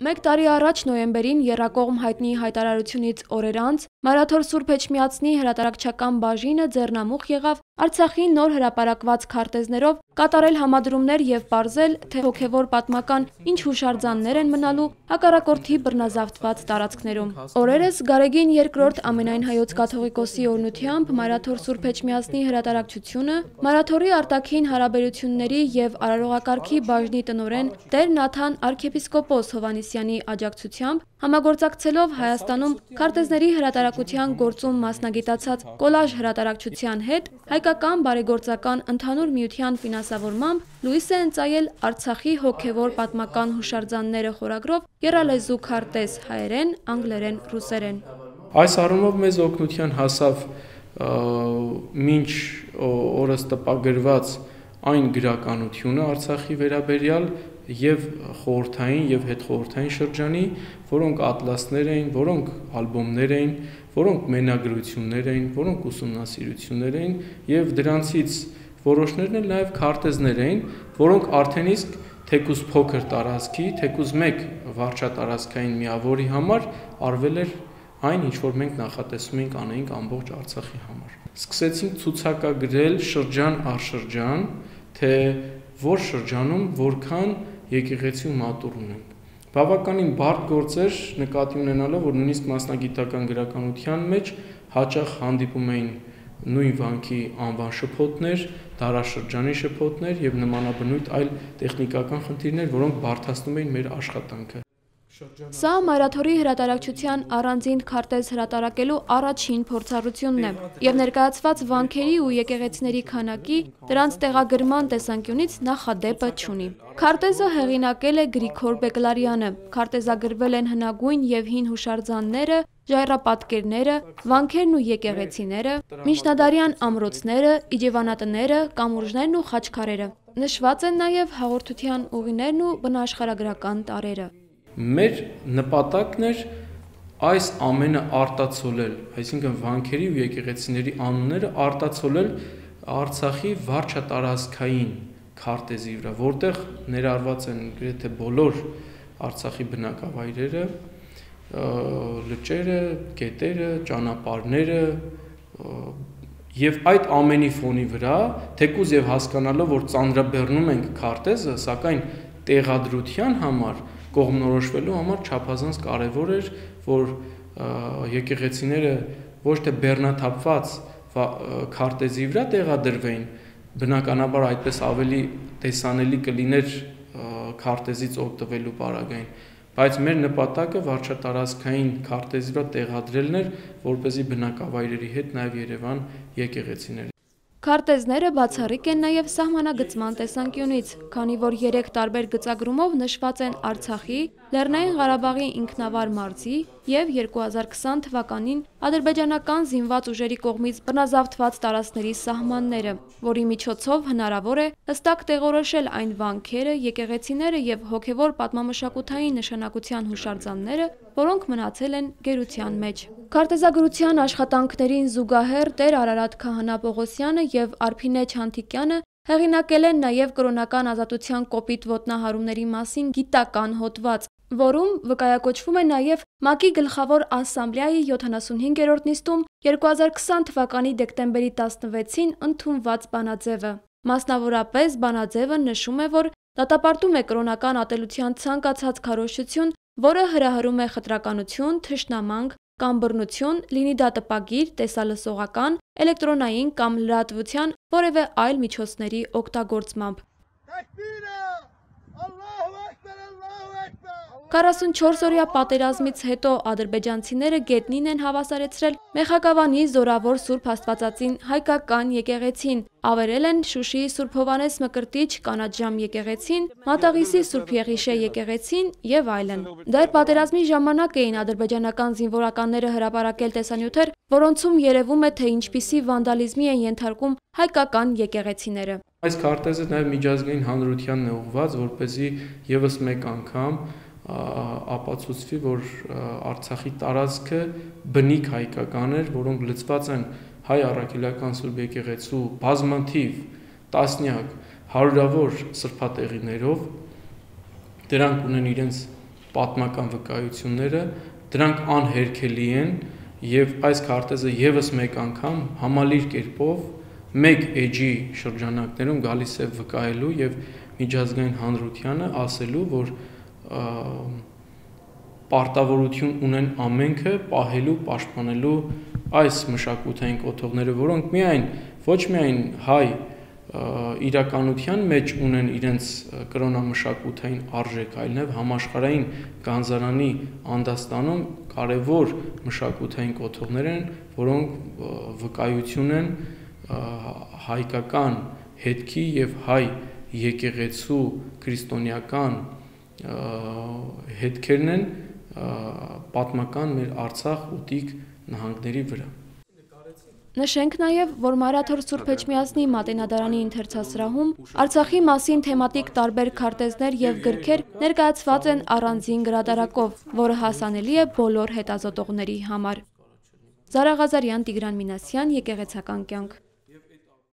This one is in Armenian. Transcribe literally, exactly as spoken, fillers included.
Մեկ տարի առաջ նոյեմբերին եռակողմ հայտնի հայտարարությունից օրեր անց Մարաթոր Սուրբ Էջմիածնի հրատարակչական բաժինը ձեռնամուխ եղավ Արցախի նոր հրապարակված քարտեզներով կատարել համադրումներ եւ պարզել, թե հոգեվոր պատմական ինչ հուշարձաններ են մնալու հակառակորդի բռնազավթված տարածքներում։ Օրերս Գարեգին երկրորդ ամենայն հայոց կաթողիկոսի օրհնությամբ Մարաթոր Սուրբ Էջմիածնի հրատարակչությունը Մարաթորի արտաքին հարաբերությունների եւ արարողակարգի բաժնի տնօրեն Տեր Նաթան arczepiskopos Հովանեսյանի աջակցությամբ համագործակցելով Հայաստանում քարտեզների հրատարակության գործում մասնագիտացած Կոլաժ հրատարակչության հետ հայկական բարեգործական ընդհանուր միության ֆինանսավորմամբ լույս է ընծայել Արցախի հոգևոր պատմական հուշարձանները խորագրով եռալեզու քարտեզ հայերեն, անգլերեն, ռուսերեն։ Այս առումով մեզ օգնության հասավ մինչ օրս տպագրված այն գրականությունը Արցախի վերաբերյալ եւ խորհրդային եւ հետխորհրդային շրջանի, որոնք ատլասներ էին, որոնք ալբոմներ էին, որոնք մենագրություններ էին, որոնք ուսումնասիրություններ էին եւ դրանցից որոշներն էլ նաեւ քարտեզներ էին, որոնք արդեն իսկ թեկուզ փոքր տարածքի, թեկուզ մեկ վարչատարածքային միավորի համար արվել էր այն, ինչ որ մենք նախատեսում էինք անեինք ամբողջ Արցախի համար։ Սկսեցինք ցուցակագրել շրջան առ շրջան, թե որ շրջանում որքան եկեղեցի մատուռ ունենք։ Բավականին բարդ գործ էր նկատի ունենալով, որ նույնիսկ մասնագիտական գրականության մեջ հաճախ հանդիպում էին նույն վանքի անվան շփոթներ, դարաշրջանի շփոթներ եւ նմանաբնույթ այլ տեխնիկական խնդիրներ, որոնք բարդացնում էին մեր աշխատանքը։ Սա Մարաթորի հրատարակչության առանձին քարտեզ հրատարակելու առաջին փորձառությունն է եւ ներկայացված վանքերի ու եկեղեցիների քանակի դրանց տեղագրման տեսանկյունից նախադեպը չունի։ Քարտեզը հեղինակել է Գրիգոր Բեկլարյանը, քարտեզագրվել են հնագույն եւ հին հուշարձանները, ժայռապատկերները, վանքերն ու եկեղեցիները, միջնադարյան ամրոցները, իջևանատները, կամուրջներն ու խաչքարերը։ Նշված են նաեւ հաղորդության ուղիներն ու բնաաշխարհագրական տարրերը։ Մեր նպատակն էր այս ամենը արտացոլել, այսինքն վանքերի ու եկեղեցիների անունները արտացոլել Արցախի վարչատարածքային քարտեզի վրա, որտեղ ներառված են գրեթե բոլոր Արցախի բնակավայրերը, լճերը, գետերը, ճանապարհները եւ այդ ամենի ֆոնի վրա, թեկուզ եւ հասկանալով, որ ծանրաբեռնում ենք քարտեզը, սակայն տեղադրության համար կողմնորոշվելու համար չափազանց կարևոր էր, որ եկեղեցիները ոչ թե բեռնաթափված քարտեզի վրա տեղադրվեին, բնականաբար այդպես ավելի տեսանելի կլիներ քարտեզից օգտվելու պարագային, բայց մեր նպատակը վարչատարածքային քարտեզի վրա տեղադրելն էր, որպեսզի բնակավայրերի հետ նաև Երևան եկեղեցիներ։ Քարտեզները բացառիկ են նաև սահմանագծման տեսանկյունից, քանի որ երեք տարբեր գծագրումով նշված են Արցախի, Լեռնային Ղարաբաղի ինքնավար մարզի եւ երկու հազար քսան թվականին ադրբեջանական զինված ուժերի կողմից բռնազավթված տարածքների սահմանները, որի միջոցով հնարավոր է հստակ տեղորոշել այն վանքերը, եկեղեցիները եւ հոգեվոր պատմամշակութային նշանակության հուշարձանները, որոնք մնացել են գերության մեջ։ Քարտեզագրության աշխատանքներին զուգահեռ Տեր Արարատ Քահանա Պողոսյանը եւ Արփինե Չանթիկյանը հեղինակել են նաեւ կրոնական ազատության կոպիտ ոտնահարումների մասին գիտական հոդված, որում վկայակոչվում է նաեւ ՄԱԿ-ի գլխավոր ասամբլեայի յոթանասունհինգերորդ նիստում երկու հազար քսան թվականի դեկտեմբերի տասնվեցին ընդունված բանաձևը։ Մասնավորապես բանաձևը նշում է, որ դատապարտում է կրոնական ատելության ցանկացած քարոզչություն, որը հրահրում է խտրականություն, թշնամանք կամ բռնություն, լինի դա տպագիր, տեսալսողական, էլեկտրոնային կամ լրատվության որևէ այլ միջոցների օգտագործմամբ։ քառասունչորս-օրյա պատերազմից հետո ադրբեջանցիները գետնին են հավասարեցրել Մեխակավանի զորավոր Սուրբ Աստվածածին հայկական եկեղեցին, ավերել են Շուշիի Սուրբ Հովանես Մկրտիչ կանաչժամ եկեղեցին, Մատաղիսի Սուրբ Եղիշե եկեղեցին եւ այլն։ Դեռ պատերազմի ժամանակ էին ադրբեջանական զինվորականները հրապարակել տեսանյութեր, որոնցում երևում է, թե ինչպիսի վանդալիզմի են ենթարկում հայկական եկեղեցիները։ Այս քարտեզը նաեւ միջազգային հանրությանն է ուղղված, որպեսզի եւս մեկ անգամ ապացուցվի, որ Արցախի տարածքը բնիկ հայկական էր, որոնք լցված են հայ առաքելական Սուրբ եկեղեցու բազմաթիվ տասնյակ հարյուրավոր սրբատեղիներով, դրանք ունեն իրենց պատմական վկայությունները, դրանք անհերքելի են եւ այս քարտեզը եւս մեկ անգամ համալիր կերպով մեկ էջի շրջանակներում գալիս է վկայելու եւ միջազգային հանրությանը ասելու, որ պարտավորություն ունեն ամենքը պահելու, պաշտպանելու այս մշակութային կոթողները, որոնք միայն ոչ միայն հայ իրականության մեջ ունեն իրենց կրոնամշակութային արժեք, այլև համաշխարհային գանձարանի անդաստանում կարևոր մշակութային կոթողներ են, որոնք վկայություն են հայկական հետքի եւ հայ եկեղեցու քրիստոնեական հետքերն են պատմական մեր Արցախ ու Տիկ նահանգների վրա։ Նշենք նաև, որ Մարաթոր Սուրբ Էջմիածնի Մատենադարանի ընթերցասրահում Արցախի մասին թեմատիկ տարբեր քարտեզներ եւ գրքեր ներկայացված են առանձին գրադարակով, որը հասանելի է բոլոր հետազոտողների համար։ Զարա Ղազարյան, Տիգրան Մինասյան, Եկեղեցական կյանք։